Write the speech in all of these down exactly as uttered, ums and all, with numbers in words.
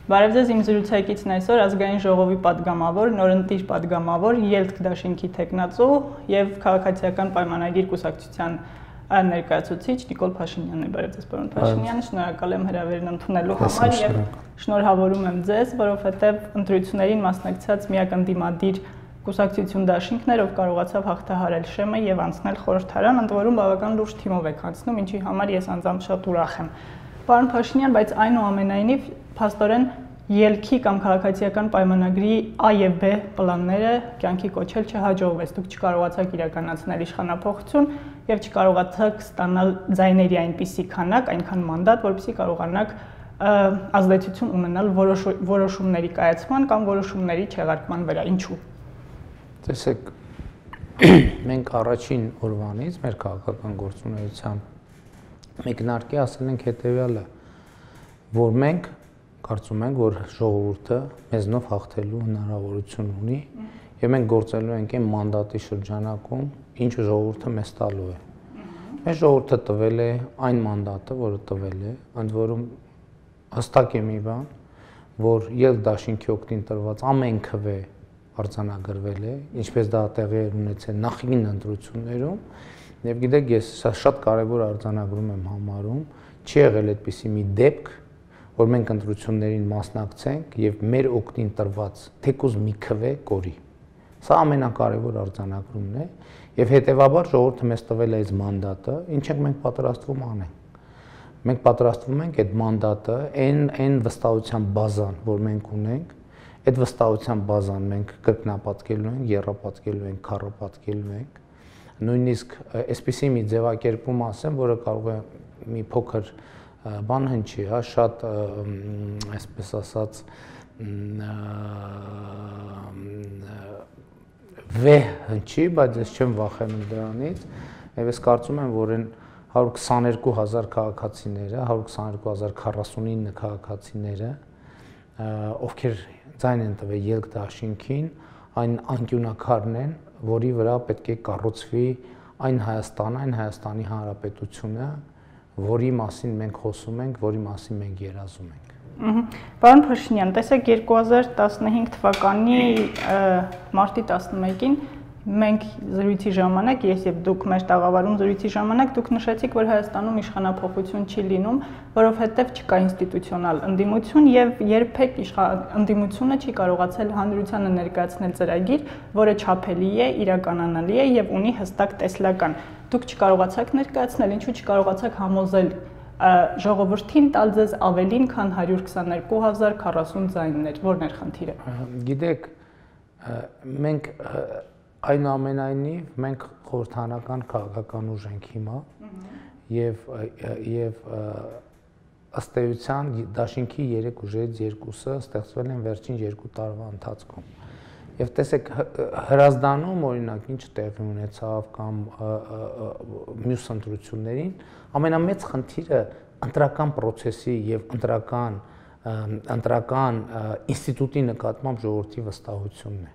Բարև ձեզ, իմ զրուցակիցն այսօր ազգային ժողովի պատգամավոր, նորընտիր պատգամավոր, ելք դաշինքի թեկնածու եւ քաղաքացիական պայմանագիր կուսակցության ներկայացուցիչ Նիկոլ Փաշինյանն է։ Բարև ձեզ, պարոն Փաշինյան, շնորհակալ եմ հրավերն ընդունելու համար եւ շնորհավորում եմ ձեզ, որովհետեւ ընտրություններին մասնակցած միակ ընդդիմադիր կուսակցություն դաշինքն էր, ով կարողացավ հաղթահարել շեմը եւ անցնել խորհրդարան, ընդ որում բավական լուրջ թիմով եք անցնում, ինչի համար ես անձամբ շատ ուրախ եմ։ Պարոն Փաշինյան, բայց այնուամենայնիվ փաստորեն ելքի կամ քաղաքացիական պայմանագրի A եւ B պլանները կյանքի կոչել չհաջողվեց։ Դուք չկարողացաք իրականացնել իշխանափոխություն եւ չկարողացաք ստանալ ձայների այնպիսի քանակ, այնքան մանդատ, որպեսզի կարողանաք ազդեցություն ունենալ որոշումների կայացման կամ որոշումների չեղարկման վրա։ Ինչու՞։ Տեսեք, մենք առաջին օրվանից մեր քաղաքական գործունեության մեկնարկի ասել ենք հետևյալը, որ մենք կարծում ենք, որ ժողովուրդը մեզնով հաղթելու հնարավորություն ունի եւ մենք գործելու ենք այն մանդատի շրջանակում, ինչը ժողովուրդը մեզ տալու է։ Մեզ ժողովուրդը տվել է այն մանդատը, որը տվել է, ընդ որում հստակ է մի բան, որ ելք դաշինքի օգտին տրված ամեն քվե արձանագրվել է, ինչպես դա տեղի է ունեցել նախկին ընտրություններում, եւ գիտեք, ես շատ կարեւոր արձանագրում եմ համարում, չի եղել այդպիսի մի դեպք, որ մենք ընտրություններին մասնակցենք եւ մեր օգտին տրված թեկուզ մի քվե կորի։ Սա ամենակարևոր արձանագրումն է եւ հետեւաբար ժողովուրդը մեզ տվել է այս մանդատը, ինչ ենք մենք պատրաստվում անենք։ Մենք պատրաստվում ենք այդ մանդատը, այն այն վստահության բազան, որ մենք ունենք, այդ վստահության բազան մենք կրկնապատկելու ենք, եռապատկելու ենք, քառապատկելու ենք։ Նույնիսկ այսպիսի մի ձևակերպում ասեմ, որը կարող է մի փոքր բան հնչի, հա, շատ այսպես ասած վեհ հնչի, բայց ես չեմ վախենում դրանից, եւ ես կարծում եմ, որ այն հարյուր քսաներկու հազար քաղաքացիները, հարյուր քսաներկու հազար քառասունինը քաղաքացիները, ովքեր ձայն են տվել ելք դաշինքին, այն անկյունակարն են, որի վրա պետք է կառուցվի այն Հայաստանը, այն Հայաստանի Հանրապետությունը, որի մասին մենք խոսում ենք, որի մասին մենք երազում ենք։ Պարոն Փաշինյան, տեսեք երկու հազար տասնհինգ թվականի մարտի տասնմեկին մենք զրույցի ժամանակ, ես եւ դուք մեր տաղավարում զրույցի ժամանակ դուք նշեցիք, որ Հայաստանում իշխանափոխություն չի լինում, որովհետեւ չկա ինստիտուցիոնալ ընդդիմություն եւ երբեք ընդդիմությունը չի կարողացել հանրությանը ներկայացնել ծրագիր, որը չափելի է, իրականանալի է եւ ունի հստակ տեսլական։ Դուք չկարողացաք ներկայացնել, ինչու չկարողացաք համոզել ժողովրդին տալ ձեզ ավելին, քան հարյուր քսաներկու հազար քառասուն ձայններ, որն էր խնդիրը։ Գիտեք, մենք այնուամենայնիվ մենք խորհրդանական քաղաքական ուժ ենք հիմա եւ եւ ըստ էության դաշինքի երեք ուժերից երկուսը ստեղծվել են վերջին երկու տարվա ընթացքում։ Եվ տեսեք, Հրազդանում օրինակ ինչ տեղի ունեցավ կամ մյուս ընտրություններին, ամենամեծ խնդիրը ընտրական process-ի եւ ընտրական ընտրական ինստիտուտի նկատմամբ ժողովրդի վստահությունն է։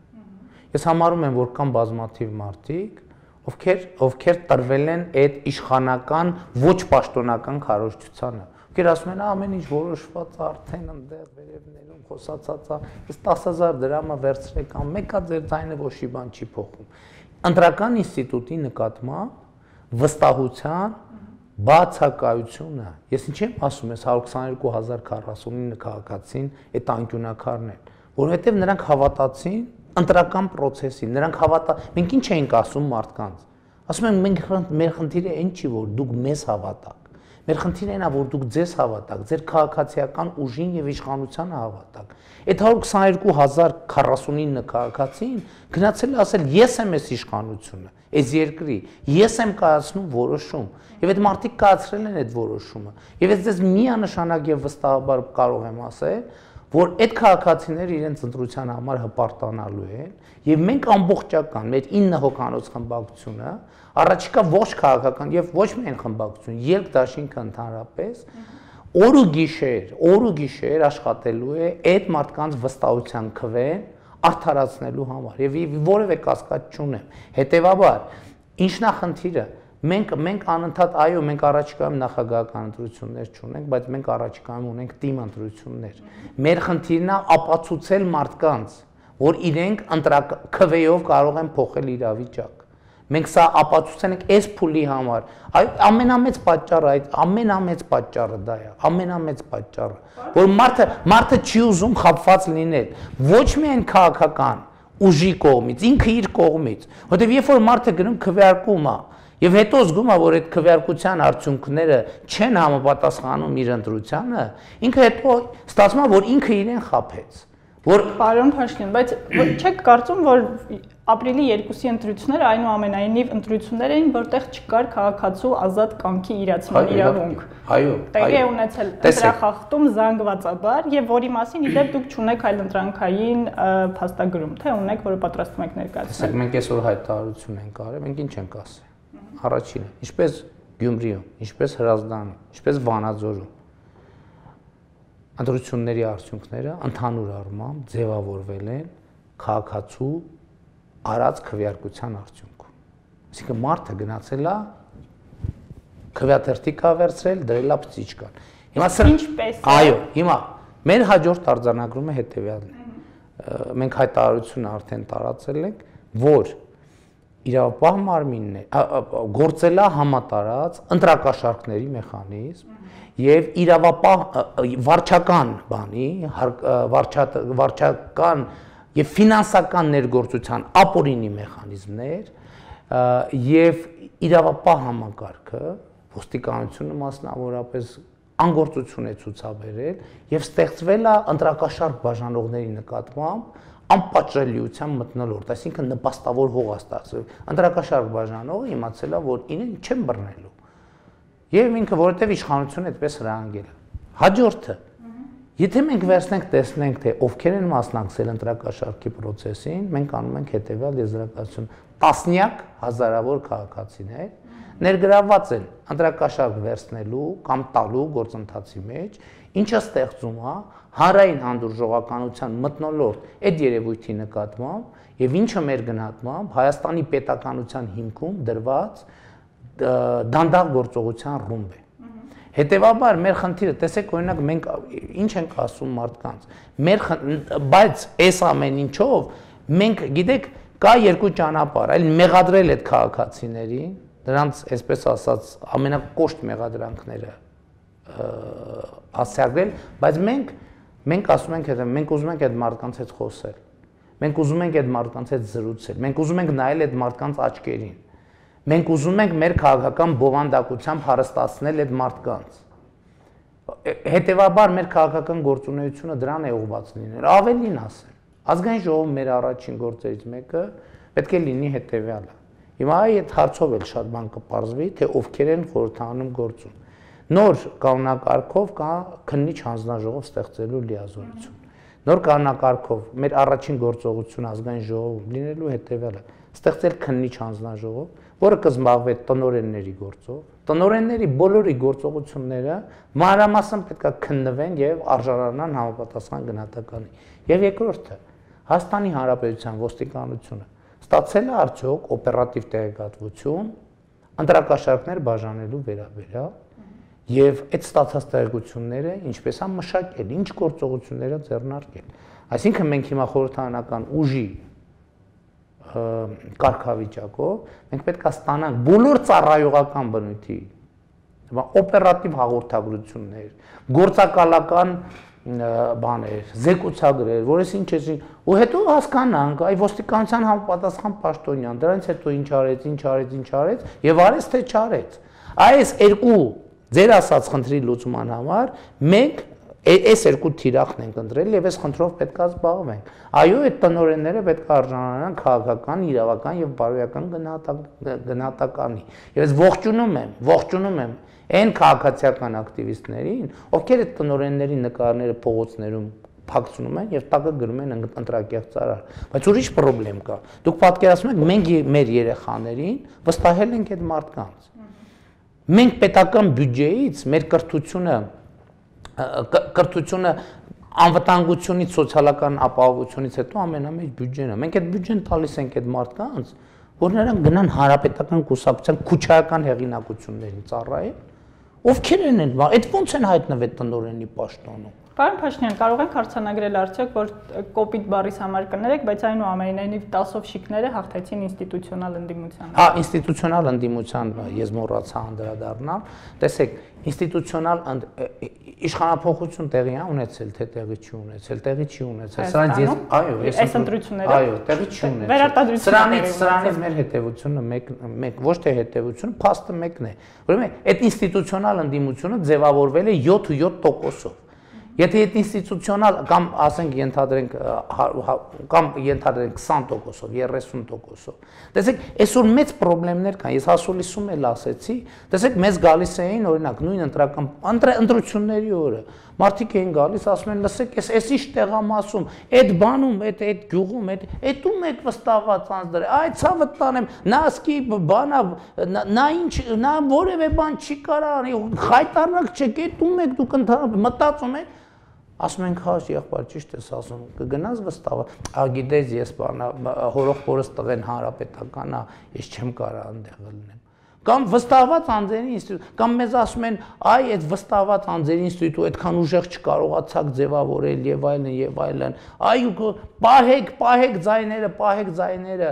Ես համարում եմ, որ կան բազմաթիվ մարդիկ, ովքեր ովքեր տրվել են այդ իշխանական ոչ պաշտոնական քարոզչությանը։ Ովքեր ասում են, ամեն ինչ որոշված է արդեն այնտեղ վերևներում խոսացած է, ես տասը հազար դրամը վերցրեք, կամ մեկա ձեր ձայնը ոչի բան չի փոխում։ Ընտրական ինստիտուտի նկատմամբ վստահության բացակայությունը, ես ինչ եմ ասում, ես հարյուր քսաներկու հազար քառասունինը քաղաքացին այդ անկյունակարն են, որովհետև նրանք հավատացին ընտրական process-ին, նրանք հավատա, մենք ինչ էինք ասում մարդկանց։ Ասում ենք, մենք մեր խնդիրը այն չի, որ դուք մեզ հավատաք։ Մեր խնդիրը այն է, որ դուք ձեզ հավատաք, ձեր քաղաքացիական ուժին եւ իշխանությանը հավատաք։ Այդ հարյուր քսաներկու հազար քառասունինը քաղաքացին գնացել է ասել, ես եմ այս իշխանությունը, այս երկրի, ես եմ կայացնում որոշում։ Եվ այդ մարդիկ կայացրել են այդ որոշումը։ Եվ ես ձեզ միանշանակ եւ վստահաբար կարող եմ ասել, որ այդ քաղաքացիները իրենց ընտրության համար հպարտանալու են եւ մենք ամբողջական մեր ինը հոգանոց խմբակցությունը առաջիկա ոչ քաղաքական եւ ոչ միայն խմբակցություն, ելք դաշինքը ընդհանրապես օր ու գիշեր, օր ու գիշեր աշխատելու է այդ մարդկանց վստահության քվեն արդարացնելու համար եւ որևէ կասկած չունեմ։ Հետեւաբար, ինչն է խնդիրը, Մենք մենք անընդհատ այո, մենք առաջիկայում նախագահական ընտրություններ չունենք, բայց մենք առաջիկայում ունենք թիմ ընտրություններ։ Մեր խնդիրն է ապացուցել մարդկանց, որ իրենք քվեով կարող են փոխել իրավիճակ։ Մենք սա ապացուցել ենք այս փուլի համար։ Այ ամենամեծ պատճառը, այդ ամենամեծ պատճառը դա է, ամենամեծ պատճառը, որ մարդը մարդը չի ուզում խաբված լինել, ոչ միայն քաղաքական ուժի կողմից, ինքը իր կողմից, որտեղ երբ որ մարդը գնում քվեարկում է, եւ հետո զգում է, որ այդ քվեարկության արդյունքները չեն համապատասխանում իր ընտրությանը, ինքը հետո ստացվում է, որ ինքը իրեն խաբեց։ Որ Պարոն Փաշինյան, բայց չեք կարծում, որ ապրիլի երկուսի ընտրությունները այնուամենայնիվ ընտրություններ էին, որտեղ չկար քաղաքացու ազատ կամքի իրացման իրավունք։ Այո, տեղի է ունեցել ընտրախախտում զանգվածաբար եւ որի մասին իդեպ դուք չունեք այլ ընտրանքային փաստագրում, թե ունեք, որը պատրաստում եք ներկայացնել։ Մենք այսօր հայտարարություն ենք արել, մենք ինչ ենք ասել։ Առաջինը, ինչպես Գյումրիում, ինչպես Հրազդանում, ինչպես Վանաձորում ընտրությունների արդյունքները ընդհանուր առմամբ ձևավորվել են քաղաքացու արած քվեարկության արդյունքում։ Այսինքն մարդը գնացել է քվեաթերթիկ է վերցրել, դրել է պծիճկան։ Հիմա ինչպես այո, հիմա մեր հաջորդ արձանագրումը հետևյալն է։ Մենք հայտարարությունը արդեն տարածել ենք, որ իրավապահ մարմինն է գործել է համատարած ընտրակաշառքների մեխանիզմ եւ իրավապահ վարչական բանի վարչական եւ ֆինանսական ներգործության ապօրինի մեխանիզմներ եւ իրավապահ համակարգը ոստիկանությունը մասնավորապես անգործություն է ցուցաբերել եւ ստեղծվել է ընտրակաշառք բաժանողների նկատմամբ անպատժելիության մթնոլորտ, այսինքն նպաստավոր հող է ստացվել։ Ընտրակաշառք բաժանողը իմացել է, որ իրեն չեն բռնելու։ Եվ ինքը որովհետև իշխանությունը այդպես հրահանգել է։ Հաջորդը, եթե մենք վերցնենք, տեսնենք, թե ովքեր են մասնակցել ընտրակաշառքի process-ին, մենք անում ենք հետևյալ եզրակացություն. տասնյակ հազարավոր քաղաքացիներ ներգրավված են ընտրակաշառք վերցնելու կամ տալու գործընթացի մեջ, ինչը ստեղծում է հանրային հանդուրժողականության մթնոլորտ այդ երևույթի նկատմամբ եւ ինչը մեր գնահատմամբ Հայաստանի պետականության հիմքում դրված դանդաղ գործողության ռումբ է։ Հետևաբար մեր խնդիրը, տեսեք, օրինակ մենք ինչ ենք ասում մարդկանց, մեր բայց այս ամեն ինչով մենք գիտեք կա երկու ճանապարհ, այլ մեղադրել այդ քաղաքացիներին, դրանց այսպես ասած ամենակոշտ մեղադրանքները հասցեագրել, բայց մենք մենք ասում ենք, թե մենք ուզում ենք այդ մարդկանց հետ խոսել։ Մենք ուզում ենք այդ մարդկանց հետ զրուցել։ Մենք ուզում ենք նայել այդ մարդկանց աչքերին։ Մենք ուզում ենք մեր քաղաքական բովանդակությամբ հարստացնել այդ մարդկանց։ Հետևաբար մեր քաղաքական գործունեությունը դրան է ուղղված լինել։ Ավելին ասել, ազգային ժողովը մեր առաջին գործերից մեկը պետք է լինի հետևյալը։ Հիմա այդ հարցով էլ շատ բան կպարզվի, թե ովքեր են խորհրդանում գործում։ Նոր կանոնակարգով կա քննիչ հանձնաժողով ստեղծելու լիազորություն։ Նոր կանոնակարգով մեր առաջին գործողությունը ազգային ժողովում լինելու հետևյալը՝ ստեղծել քննիչ հանձնաժողով, որը կզբաղվի տնօրենների գործով։ Տնօրենների բոլորի գործողությունները մանրամասն պետք է քննվեն եւ արժանանան համապատասխան գնահատականի։ Եվ երկրորդը, Հայաստանի Հանրապետության ոստիկանությունը ստացել է արդյոք օպերատիվ տեղեկատվություն ընտրակաշառքներ բաժանելու վերաբերյալ եւ այդ ստացած տեղեկությունները ինչպես է մշակել, ինչ գործողություններ է ձեռնարկել։ Այսինքն մենք հիմա խորհրդարանական ուժի կարգավիճակով մենք պետք է ստանանք բոլոր ծառայողական բնույթի օպերատիվ հաղորդագրություններ, գործակալական բաներ, զեկուցագրեր, որս ինչ է, ու հետո հասկանանք, այ ոստիկանության համապատասխան պաշտոնյան, դրանից հետո ինչ արեց, ինչ արեց, ինչ արեց եւ արեց թե չարեց։ Այս երկու ձեր ասած խնդրի լուծման համար մենք այս երկու թիրախն ենք ընտրել եւ այս խնդրով պետք է զբաղվենք։ Այո, այդ տնօրենները պետք է արժանանան քաղաքական, իրավական եւ բարոյական գնահատականի։ Եվ ես ողջունում եմ, ողջունում եմ այն քաղաքացիական ակտիվիստներին, ովքեր այդ տնօրենների նկարները փողոցներում փակցնում են եւ տակը գրում են ընտրակեղ ծարար։ Բայց ուրիշ խնդրեմ կա։ Դուք պատկերացնում եք, մենք մեր երեխաներին վստահել ենք այդ մարդկանց։ Մենք պետական բյուջեից մեր կրթությունը կրթությունը անվտանգությունից, սոցիալական ապահովությունից հետո ամենամեծ բյուջեն է։ Մենք այդ բյուջեն տալիս ենք այդ մարդկանց, որ նրանք գնան հանրապետական կուսակցության քուչայական հեղինակություններին ծառայեն, ովքեր են են, այդ ո՞նց են հայտնվել տնօրենի պաշտոնում։ Պարոն Փաշինյան, կարող ենք հարցանագրել արդյոք, որ կոպիտ բառից համար կներեք, բայց այնուամենայնիվ տասով շիկները հաղթեցին ինստիտուցիոնալ ընդդիմությանը։ Հա, ինստիտուցիոնալ ընդդիմության ես մոռացա անդրադառնալ։ Տեսեք, ինստիտուցիոնալ իշխանափոխություն տեղի է ունեցել, թե տեղի չի ունեցել, տեղի չի ունեցել։ Սրանից ես, այո, ես այս ընտրությունները, այո, տեղի չի ունեցել։ Սրանից սրանից մեր հետևությունը մեկ մեկ ոչ թե հետևությունը, փաստը մեկն է։ Ուրեմն այդ ինստիտուցիոնալ ընդդիմությունը ձևավորվել է յոթ ու յոթ տոկոսով։ Եթե այդ ինստիտուցիոնալ կամ ասենք ենթադրենք կամ ենթադրենք քսան տոկոսով, երեսուն տոկոսով։ Տեսեք, այսօր մեծ խնդիրներ կան։ Ես հասոլիսում էլ ասեցի, տեսեք, մեզ գալիս էին օրինակ նույն ընտրական ընտրությունների օրը։ Մարդիկ էին գալիս, ասում են, լսեք, էս էս ինչ տեղամասում, այդ բանում, այդ այդ գյուղում, այդ այդ ում եք վստահված անձներ, այ ցավը տանեմ, նա ասկի բանա, նա ինչ, նա որևէ բան չի կարա անի, խայտարակ չեք, այդ ում եք դուք ընդհանրապես մտածում եք։ Ասում ենք, հա, եղբայր, ճիշտ ես ասում, կգնաս վստահ, ա գիտես, ես բանա հորոխորս տղեն հանրապետականա, ես չեմ կարա այնտեղ լինեմ։ Կամ վստահված անձերի ինստիտուտ, կամ մեզ ասում են, այ այդ վստահված անձերի ինստիտուտը այդքան ուժեղ չկարողացաք ձևավորել եւ այլն եւ այլն։ Այ պահեք, պահեք ձայները, պահեք ձայները,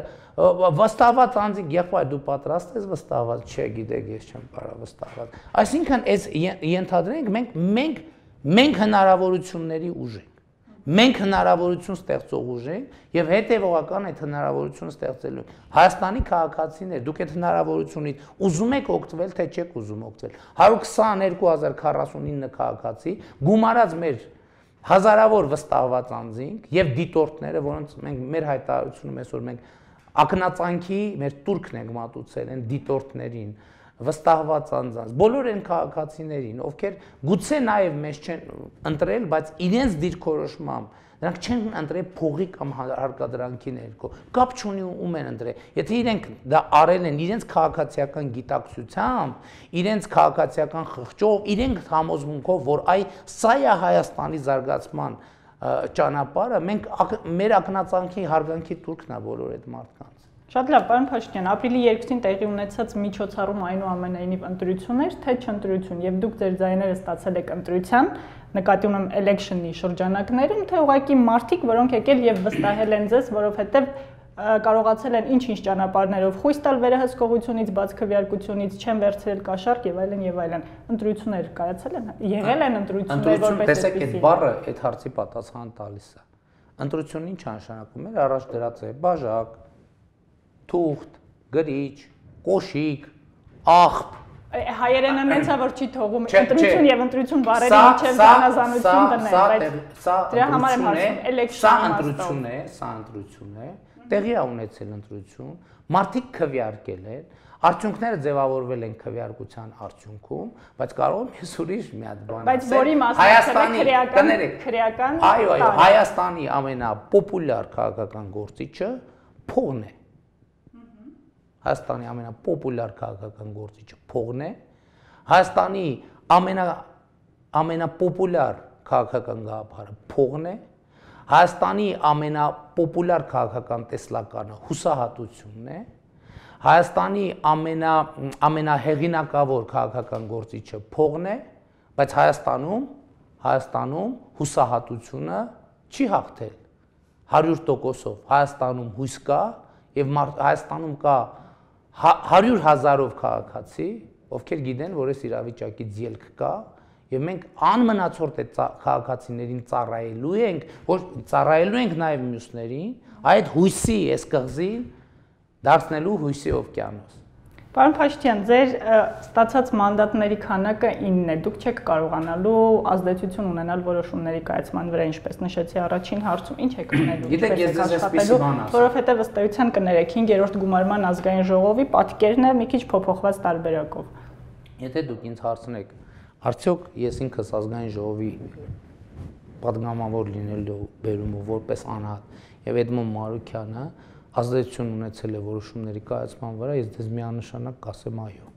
վստահված անձիկ, եղբայր, դու պատրաստ ես վստահված, չէ, գիտեք, ես չեմ կարա վստահված։ Այսինքն, այս ենթադրենք մենք մենք Մենք հնարավորությունների ուժ ենք, մենք հնարավորություն ստեղծող ուժ ենք և հետևողական այդ հնարավորությունը ստեղծելու ենք։ Հայաստանի քաղաքացիներ, դուք այդ հնարավորությունից ուզում եք օգտվել, թե չեք ուզում օգտվել։ հարյուր քսաներկու հազար քառասունինը քաղաքացի գումարած մեր հազարավոր վստահված անձինք և դիտորդները, որոնց մենք մեր հայտարարությունում այսօր մենք ակնածանքի մեր տուրքն ենք մատուցել են դիտորդներին, վստահված անձանց, բոլոր այն քաղաքացիներին, ովքեր գուցե նաև մեզ չեն ընտրել, բայց իրենց դիրքորոշմամբ նրանք չեն ընտրել փողի կամ հարկադրանքի ներքո, կապ չունի ում են ընտրել։ Եթե իրենք դա արել են իրենց քաղաքացիական գիտակցությամբ, իրենց քաղաքացիական խղճով, իրենք համոզմունքով, որ այ սա է Հայաստանի զարգացման ճանապարհը, մենք մեր ակնածանքի հարգանքի տուրքն է բոլոր այդ մարդկանց։ Շատ լավ, պարոն Փաշինյան, ապրիլի երկուսին տեղի ունեցած միջոցառում այնուամենայնիվ ընտրություն էր, թե չընտրություն, եւ դուք ձեր ձայները ստացել եք ընտրության, նկատի ունեմ election-ի շրջանակներում, թե ուղղակի մարդիկ, որոնք եկել եւ վստահել են ձեզ, որովհետեւ կարողացել են ինչ-ինչ ճանապարհներով խույս տալ վերահսկողությունից, բաց քվեարկությունից, չեն վերցրել կաշառք եւ այլն եւ այլն։ Ընտրություններ կայացել են, եղել են ընտրություններ, որպես տեսեք, այդ բառը այդ հարցի պատասխան տալիս է։ Ընտրությունն ինչ նշանակում է, առաջ դրած է բաժակ, թուղթ, գրիչ, կոշիկ, աղբ։ Հայերենը մեծա որ չի թողում ընտրություն եւ ընտրություն բառերի միջև զանազանություն դնել, բայց դրա համար եմ ասում, election-ը ընտրություն է, սա ընտրություն է, տեղի է ունեցել ընտրություն, մարդիկ քվեարկել են, արդյունքները ձևավորվել են քվեարկության արդյունքում, բայց կարող եմ ես ուրիշ մի հատ բան ասել։ Բայց որի մասնակցել քրեական քրեական այո, այո, Հայաստանի ամենապոպուլյար քաղաքական գործիչը փողն է։ Հայաստանի ամենապոպուլյար քաղաքական գործիչը փողն է, Հայաստանի ամենա ամենապոպուլյար քաղաքական գաղափարը փողն է, Հայաստանի ամենապոպուլյար քաղաքական տեսլականը հուսահատությունն է, Հայաստանի ամենա ամենահեղինակավոր քաղաքական գործիչը փողն է, բայց Հայաստանում Հայաստանում հուսահատությունը չի հաղթել հարյուր տոկոսով, Հայաստանում հույս կա եւ Հայաստանում կա հարյուր հազարով քաղաքացի, ովքեր գիտեն, որ այս իրավիճակից ելք կա, եւ մենք անմնացորդ այդ քաղաքացիներին ծառայելու ենք, որ ծառայելու ենք նաեւ մյուսներին, այդ հույսի այս կղզին դարձնելու հույսի օվկիանոս։ Պարոն Փաշինյան, ձեր ստացած մանդատների քանակը ինն է, դուք չեք կարողանալու ազդեցություն ունենալ որոշումների կայացման վրա, ինչպես նշեցի առաջին հարցում, ինչ եք անելու, ինչպես եք աշխատելու, որովհետև ըստ էության կներեք հինգերորդ գումարման ազգային ժողովի պատկերն է մի քիչ փոփոխված տարբերակով։ Եթե դուք ինձ հարցնեք, արդյոք ես ինքս ազգային ժողովի պատգամավոր լինելու բերումով որպես անհատ եւ Էդմոն Մարուկյանը ազդեցություն ունեցել է որոշումների կայացման վրա, ես դες միանշանակ կասեմ այո։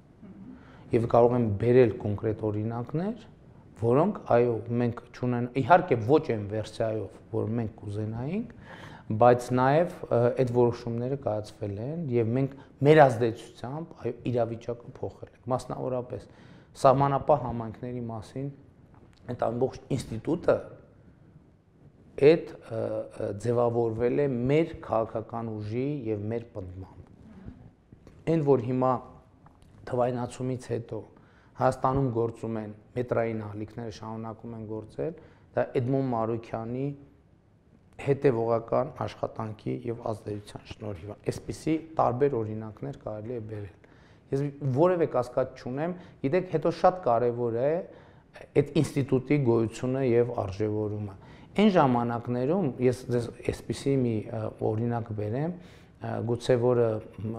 Եվ կարող եմ բերել կոնկրետ օրինակներ, որոնք այո, մենք չունեն, իհարկե ոչ այն վերսիայով, որ մենք կուզենայինք, բայց նաև այդ որոշումները կայացվել են եւ մենք մեր ազդեցությամբ այո իրավիճակը փոխել ենք մասնավորապես սահմանապահ համայնքների մասին այդ ամբողջ ինստիտուտը այդ ձևավորվել է մեր քաղաքական ուժի եւ մեր պնդմամբ այն որ հիմա թվայնացումից հետո Հայաստանում գործում են մետրային ալիքները շարունակում են գործել դա Էդմոն Մարուքյանի հետևողական աշխատանքի եւ ազդեցության շնորհիվ է այսպիսի տարբեր օրինակներ կարելի է բերել ես որևէ կասկած չունեմ գիտեք հետո շատ կարեւոր է այդ ինստիտուտի գոյությունը եւ արժեվորումը այն ժամանակներում ես ձեզ այսպիսի մի օրինակ բերեմ գուցե որը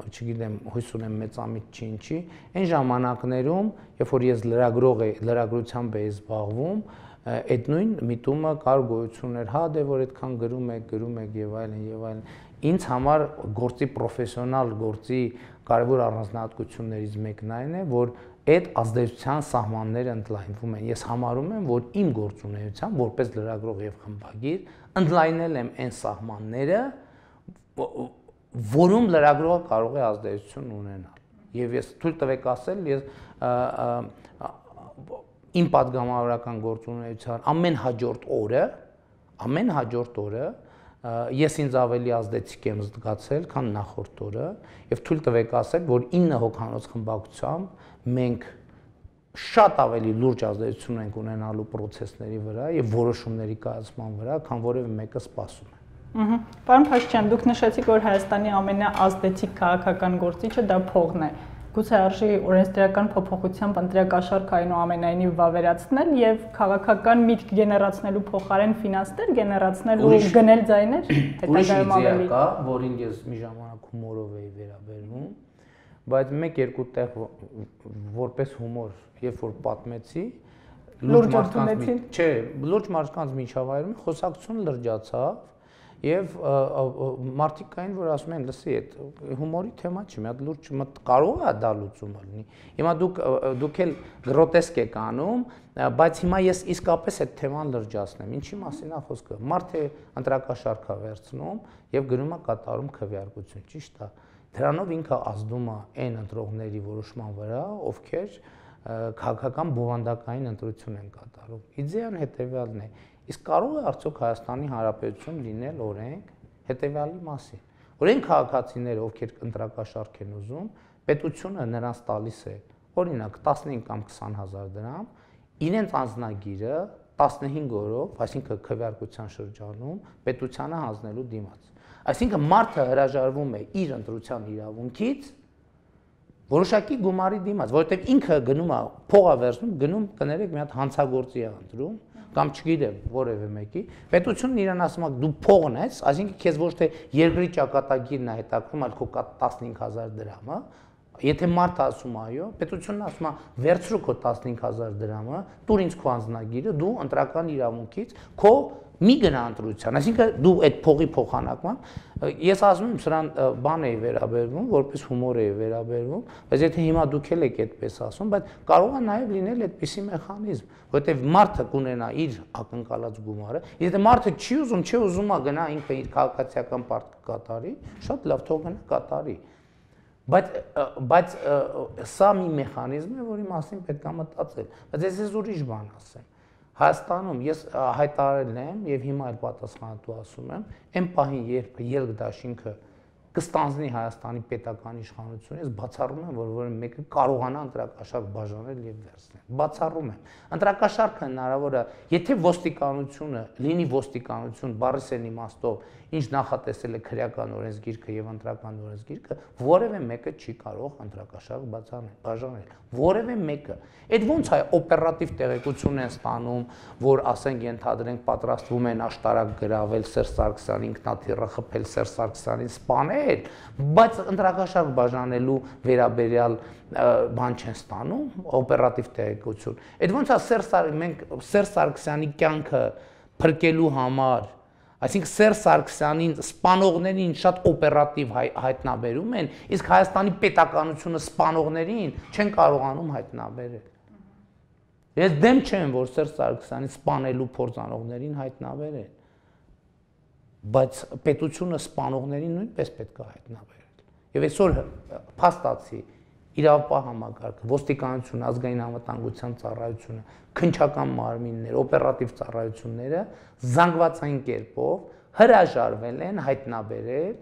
չգիտեմ հույս ունեմ մեծամիտ չի ինչի այն ժամանակներում երբ որ ես լրագրող էի լրագրությամբ էի զբաղվում այդ նույն միտումը կար գոյություններ հա դե որ այդքան գրում եք գրում եք եւ այլն եւ այլն ինձ համար գործի պրոֆեսիոնալ գործի կարևոր առանձնահատկություններից մեկն այն է որ այդ ազդեցության սահմանները ընդլայնվում են ես համարում եմ որ իմ գործունեությամբ որպես լրագրող եւ խմբագիր ընդլայնել եմ այն սահմանները որում լրագրողը կարող է ազդեցություն ունենալ եւ ես թույլ տվեք ասել ես իմ պատգամավորական գործունեության ամեն հաջորդ օրը ամեն հաջորդ օրը ես ինձ ավելի ազդեցիկ եմ զգացել քան նախորդ օրը եւ թույլ տվեք ասել որ ինը հոգանոց խմբակցությամբ մենք շատ ավելի լուրջ ազդեցություն ենք ունենալու process-ների վրա եւ որոշումների կայացման վրա քան որևէ մեկը սպասում է Ահա Պարոն Փաշինյան դուք նշեցիք որ Հայաստանի ամենաազդեցիկ քաղաքական գործիչը դա փողն է Գուցե արժի օրենսդրական փոփոխությամբ ընտրակաշարքը այնուամենայնիվ վավերացնել եւ քաղաքական միտք գեներացնելու փոխարեն ֆինանսներ գեներացնել ու գնել ձայներ հետագայում ավելի կա, որին ես մի ժամանակ հումորով էի վերաբերվում, բայց մեկ-երկու տեղ որպես հումոր, երբ որ պատմեցի, լուրջ մարդկանց, չէ, լուրջ մարդկանց միջավայրում խոսակցություն լրջացավ Եվ մարդիկ կային, որ ասում են, լսի, այդ հումորի թեմա չի, մի հատ լուրջ կարող է դա լուծումը լինի։ Հիմա դուք դուք էլ գրոտեսկ եք անում, բայց հիմա ես իսկապես այդ թեման լրջացնեմ։ Ինչի մասին է խոսքը։ Մարդը ընտրակաշարք է վերցնում եւ գնում է կատարում քվեարկություն, ճիշտ է։ Դրանով ինքը ազդում է այն ընտրողների որոշման վրա, ովքեր քաղաքական բովանդակային ընտրություն են կատարում։ Իդեան հետեւյալն է Իսկ կարող է արդյոք Հայաստանի Հանրապետություն լինել օրենք հետևյալի մասին։ Օրենք քաղաքացիները, ովքեր ընտրակաշարք են ուզում, պետությունը նրանց տալիս է, օրինակ տասնհինգ կամ քսան հազար դրամ, իրենց անձնագիրը տասնհինգ օրով, այսինքն քվեարկության շրջանում, պետությանը հանձնելու դիմաց։ Այսինքն մարդը հրաժարվում է իր ընտրության իրավունքից որոշակի գումարի դիմաց, որովհետև ինքը գնում է փողա վերցնում, գնում կներեք մի հատ հանցագործի է ընտրում կամ չգիտեմ որևէ մեկի պետությունն իրան ասում է դու փողն ես այսինքն քեզ ոչ թե երկրի ճակատագիրն է հետաքրում այլ քո տասնհինգ հազար դրամը եթե մարդը ասում այո պետությունն ասում է վերցրու քո տասնհինգ հազար դրամը տուր ինձ քո անձնագիրը դու ընտրական իրավունքից քո մի գնա ընտրության այսինքն դու այդ փողի փոխանակման ես ասում եմ սրան բան էի վերաբերվում որպես հումոր էի վերաբերվում բայց եթե հիմա դուք էլ եք այդպես ասում բայց կարող է նաև լինել այդպիսի մեխանիզմ որովհետև մարդը կունենա իր ակնկալած գումարը եթե մարդը չի ուզում չի ուզում է գնա ինքը իր քաղաքացիական պարտքը կատարի շատ լավ թող գնա կատարի բայց բայց սա մի մեխանիզմ է որի մասին պետք է մտածել բայց ես ես ուրիշ բան ասեմ Հայաստանում ես հայտարարել եմ եւ հիմա էլ պատասխանատու ասում եմ, այն պահին երբ ելք դաշինքը կստանձնի Հայաստանի պետական իշխանությունը, ես բացառում եմ, որ որևէ մեկը կարողանա ընտրակաշարք բաժանել եւ վերցնել։ Բացառում եմ։ Ընտրակաշարքը հնարավոր է, եթե ոստիկանությունը լինի ոստիկանություն բառիսեն իմաստով, ինչ նախատեսել է քրեական օրենսգիրքը եւ ընտրական օրենսգիրքը, որևէ մեկը չի կարող ընտրակաշարք բացանել, բաժանել։ Որևէ մեկը։ Այդ ոնց է օպերատիվ տեղեկություն են ստանում, որ ասենք ենթադրենք պատրաստվում են աշտարակ գրավել Սերժ Սարգսյանին, ինքնաթիռը խփել Սերժ Սարգսյանին, սպանել, բայց ընտրակաշարք բաժանելու վերաբերյալ բան չեն ստանում, օպերատիվ տեղեկություն։ Այդ ոնց է Սերժ մենք Սերժ Սարգսյանի կյանքը փրկելու համար Այսինքն Սերժ Սարգսյանին սպանողներին շատ օպերատիվ հայտնաբերում են, իսկ Հայաստանի պետականությունը սպանողներին չեն կարողանում հայտնաբերել։ Ես դեմ չեմ, որ Սերժ Սարգսյանին սպանելու փորձանողներին հայտնաբերեն։ բայց պետությունը սպանողներին նույնպես պետք է հայտնաբերել։ Եվ այսօր փաստացի իրավապահ համակարգը, ոստիկանությունը, ազգային անվտանգության ծառայությունը, քննչական մարմինները, օպերատիվ ծառայությունները զանգվածային կերպով հրաժարվել են հայտնաբերել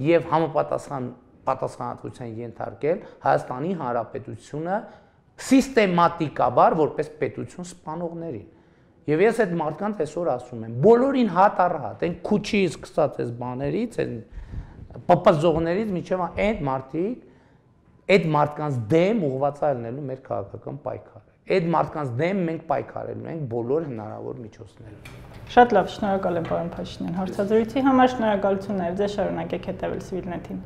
եւ համապատասխան պատասխանատվության ենթարկել Հայաստանի Հանրապետությունը սիստեմատիկաբար որպես պետություն սպանողներին։ Եվ ես այդ մարդկանց այսօր ասում եմ, բոլորին հատ առ հատ, այն քուչից սկսած այս բաներից, այն պպզողներից միջև այդ մարդիկ, այդ մարդկանց դեմ ուղղված է լինելու մեր քաղաքական պայքարը։ Այդ մարդկանց դեմ մենք պայքարելու ենք բոլոր հնարավոր միջոցներով։ Շատ լավ, շնորհակալ եմ պարոն Փաշինյան հարցազրույցի համար, շնորհակալություն նաև ձեզ, շարունակեք հետևել Civilnet-ին։